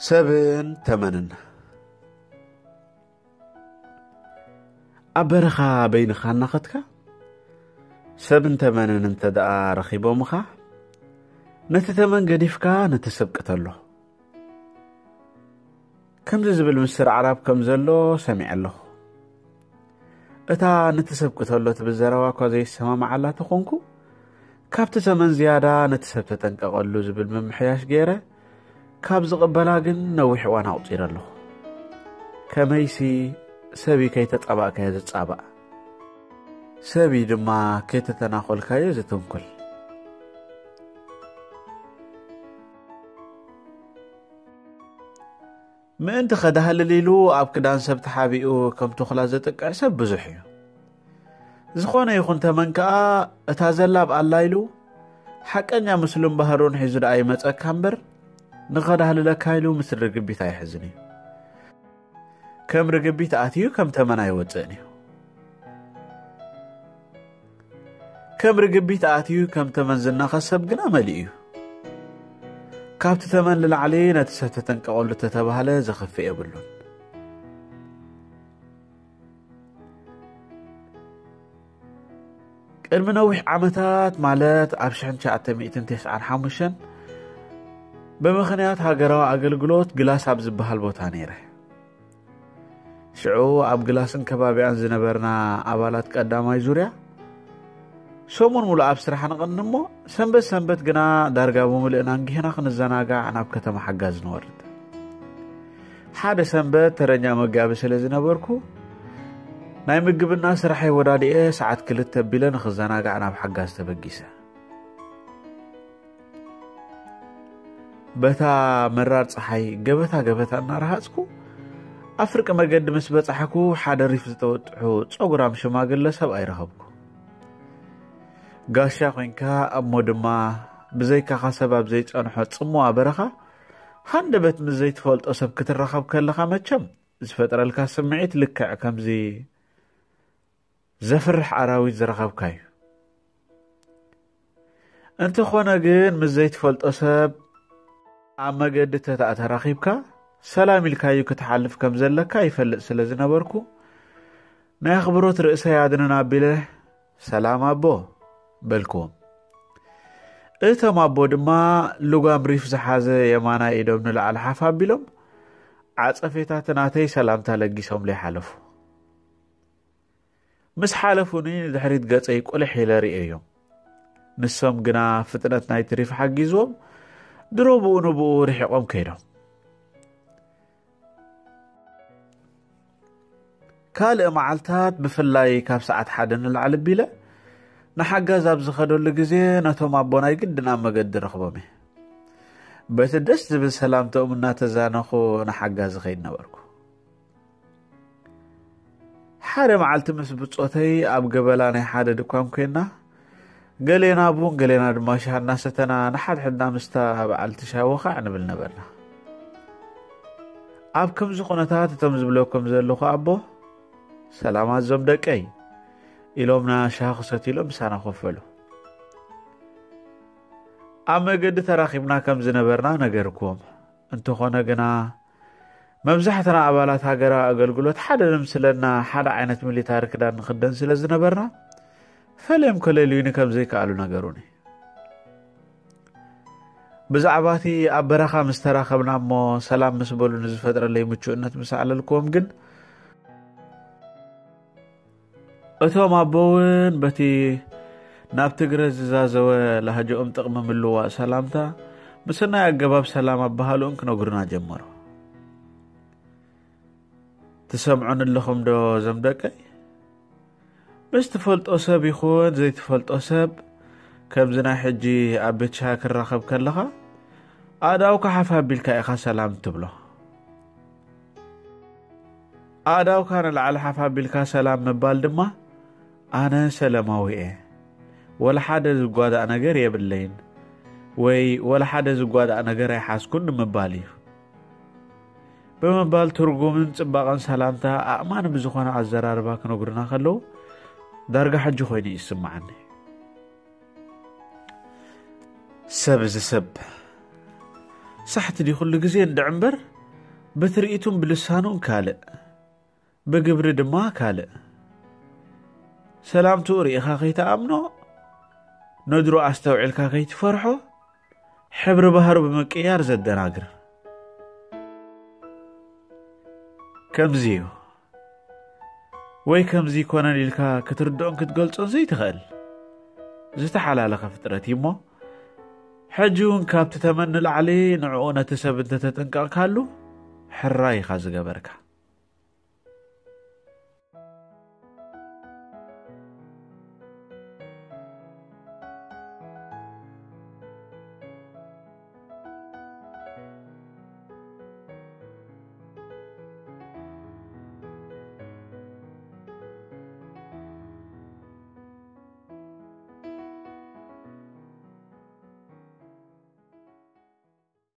ሰብን ተመንን። ኣብ በረኻ በይንኻ እናኸድካ፣ ሰብን ተመንን እንተ ደኣ ረኺቦምኻ፣ ነቲ ተመን ገዲፍካ ነቲ ሰብ ቅተሎ። ከምዚ ዝብል ምስር ኣዕራብ ከም ዘሎ ሰሚዐ ኣለኹ። እታ ነቲ ሰብ ቅተሎ ትብል ዘረባ እኳ ዘይሰማምዓላ ተኾንኩ፣ ካብቲ ተመን ዝያዳ ነቲ ሰብ ተጠንቀቐሉ ዝብል ምምሕያሽ ገይረ፣ ካብ ዝቕበላ ግን ነዊሕ እዋን ኣቑጺረ ኣለኹ። ከመይሲ ሰብ እዩ ከይተጻባእካዮ ዝጻባእ፣ ሰብ እዩ ድማ ከይተተናኾልካዮ ዝትንኩል። ምእንቲ ከዳህልል ኢሉ ኣብ ክዳን ሰብ ተሓቢኡ ከም ተኹላ ዘጥቅዕ ሰብ ብዙሕ እዩ። ዝኾነ ይኹን ተመን ከኣ እታ ዘላ ኣብኣላ ኢሉ ሓቀኛ ምስሉን ባህሩን ሒዙ ደኣ ይመጸካ እምበር፣ ንኸዳህልለካ ኢሉ ምስ ርግቢት ኣይሕዝን እዩ። ከም ርግቢት ኣትዩ ከም ተመን ኣይወጽእን እዩ። ከም ርግቢት ኣትዩ ከም ተመን ዝናኸስ ሰብ ግና መሊኡ እዩ። ካብቲ ተመን ንላዕሊ ነቲ ሰብ ተጠንቀቐሉ ተተባህለ ዘኽፍእ የብሉን። ቅድሚ ነዊሕ ዓመታት፣ ማለት ኣብ ሽሕን ትሽዓተ ሚእትን ተስዓን ሓሙሽተን፣ ብምኽንያት ሃገራዊ ኣገልግሎት ግላስ ኣብ ዝበሃል ቦታ ነይረ። ሽዑ ኣብ ግላስን ከባቢኣን ዝነበርና ኣባላት ቀዳማይ ዙርያ፣ ሰሙን ሙሉእ ኣብ ስራሕ ንቕኒ እሞ፣ ሰንበት ሰንበት ግና ዳርጋ ብምልእና እንጊህና ክንዘናጋዕ ናብ ከተማ ሓጋዝ ንወርድ። ሓደ ሰንበት ተረኛ መጋቢ ስለ ዝነበርኩ፣ ናይ ምግብና ስራሐይ ወዳዲኤ ሰዓት ክልተ ኣቢለ ንኽዘናጋዕ ናብ ሓጋዝ ተበጊሰ። በታ መራር ጸሓይ ገበታ ገበታ እናረሃጽኩ፣ ኣብ ፍርቂ መገዲ ምስ በጻሕኩ፣ ሓደ ሪፍ ዝተወጥሑ ጸጉራም ሽማግለ ሰብኣይ ረኸብኩ። ጋሻ ኮይንካ፣ እሞ ድማ ብዘይካኻ ሰብ ኣብ ዘይጸንሖ ጽምዋ በረኻ፣ ሃንደበት ምስ ዘይትፈልጦ ሰብ ክትራኸብ ከለኻ፣ መቸም ዝፈጥረልካ ስምዒት ልክዕ ከምዚ ዘፍርሕ ኣራዊት ዝረኸብካ እዩ። እንተኾነ ግን፣ ምስ ዘይትፈልጦ ሰብ ኣብ መገዲ ተታ ተራኺብካ፣ ሰላም ኢልካዩ ክትሓልፍ ከም ዘለካ ይፈልጥ ስለ ዝነበርኩ፣ ናይ ኣኽብሮት ርእሰይ ኣድንን ኣቢለ፣ "ሰላም ኣቦ" በልክዎም። እቶም ኣቦ ድማ ልጓም ሪፍ ዝሓዘ የማናይ ኢዶም ንላዕሊ ሓፍ ኣቢሎም፣ ዓጸፌታቲ ናተይ ሰላምታ ለጊሶምለይ ሓለፉ። ምስ ሓለፉኒ፣ ንድሕሪት ገጸይ ቁልሕ ኢለ ርእየዮም። ንሶም ግና ፍጥነት ናይቲ ሪፍ ሓጊዝዎም፣ ድሮ ብኡ ንብኡ ርሒቖም ከይዶም። ካልእ መዓልታት፣ ብፍላይ ካብ ሰዓት ሓደ ንላዕሊ ኣቢለ ንሓጋዝ ኣብ ዝኸደሉ ግዜ፣ ነቶም ኣቦ ናይ ግድን ኣብ መገዲ ረኽቦም እየ። በቲ ደስ ዝብል ሰላምታኦም እናተዛነኹ ንሓጋዝ እኸይድ ነበርኩ። ሓደ መዓልቲ ምስ ብጾተይ ኣብ ገበላ ናይ ሓደ ድኳን ኮይና፣ ገሌና ቡን ገሌና ድማ ሻሂ እናሰተና፣ ንሓድሕድና ምስታ በዓልቲ ሻሂ ወኻዕ ንብል ነበርና። ኣብ ከምዚ ኩነታት፣ እቶም ዝብለኩም ዘለኹ ኣቦ፣ "ሰላም ኣዞም ደቀይ" ኢሎምና፣ ሻሂ ክሰትዩ ኢሎም ምሳና ኮፍ በሉ። ኣብ መገዲ ተራኺብና ከም ዝነበርና ነገርኩዎም። እንተኾነ ግና፣ መብዛሕትና ኣባላት ሃገራዊ ኣገልግሎት ሓደ ዝምስለና፣ ሓደ ዓይነት ሚሊታሪ ክዳን ንኽደን ስለ ዝነበርና፣ ፈሊዮም ከለልዩኒ ከም ዘይከኣሉ ነገሩኒ። ብዛዕባ እቲ ኣብ በረኻ ምስ ተራኸብና እሞ ሰላም ምስ በሉኒ ዝፈጥረለይ ምቹእነት ምስ ኣዕለልክዎም ግን፣ እቶም ኣቦ እውን በቲ ናብ ትግረ ዝዛዘወ ላህጅኦም ጥቕሚ ምልውዋጥ ሰላምታ፣ ብሰናይ ኣገባብ ሰላም ኣበሃህልኡን ክነግሩና ጀመሩ። "ትሰምዑኒ ኣለኹም ዶ እዞም ደቀይ?" ምስ ትፈልጦ ሰብ ይኹን ዘይትፈልጦ ሰብ፣ ከምዚ ናይ ሕጂ ኣብ ቤት ሻሂ ክራኸብ ከለኻ፣ ኣእዳውካ ሓፍ ኣቢልካ ኢኻ ሰላም ትብሎ። ኣእዳውካ ንላዕሊ ሓፍ ኣቢልካ ሰላም ምባል ድማ፣ "ኣነ ሰላማዊ እየ፣ ወላ ሓደ ዝጓዳእ ነገር የብለይን" ወይ "ወላ ሓደ ዝጓዳእ ነገር ኣይሓዝኩን" ንምባል እዩ። ብምባል፣ ትርጉምን ጽባቐን ሰላምታ ኣእማኒ ብዝኾነ ኣዘራርባ ክነግሩና ከለዉ፣ ዳርጋ ሕጂ ኮይኑ እዩ ዝስምዓኒ። ሰብ እዚ ሰብ፣ ሳሕቲ ድዩ ኩሉ ግዜ እንድዕ እምበር፣ ብትርኢቱን ብልሳኑን ካልእ፣ ብግብሪ ድማ ካልእ። ሰላምትኡ ርኢኻ ከይትኣምኖ፣ ነድሩ ኣስተውዒልካ ከይትፈርሖ፣ ሕብሪ ባህሩ ብምቅያር ዘደናግር። ከምዚ እዩ። ወይ ከምዚ ይኮነን ኢልካ ክትርድኦን ክትገልጾን ዘይትኽእል ዝተሓላለኸ ፍጥረት እዩ እሞ፣ ሕጂ እውን ካብቲ ተመን ንላዕሊ ንዕኡ ነቲ ሰብ እንተተጠንቀቕካሉ፣ ሕራይ ኢኻ ዝገበርካ።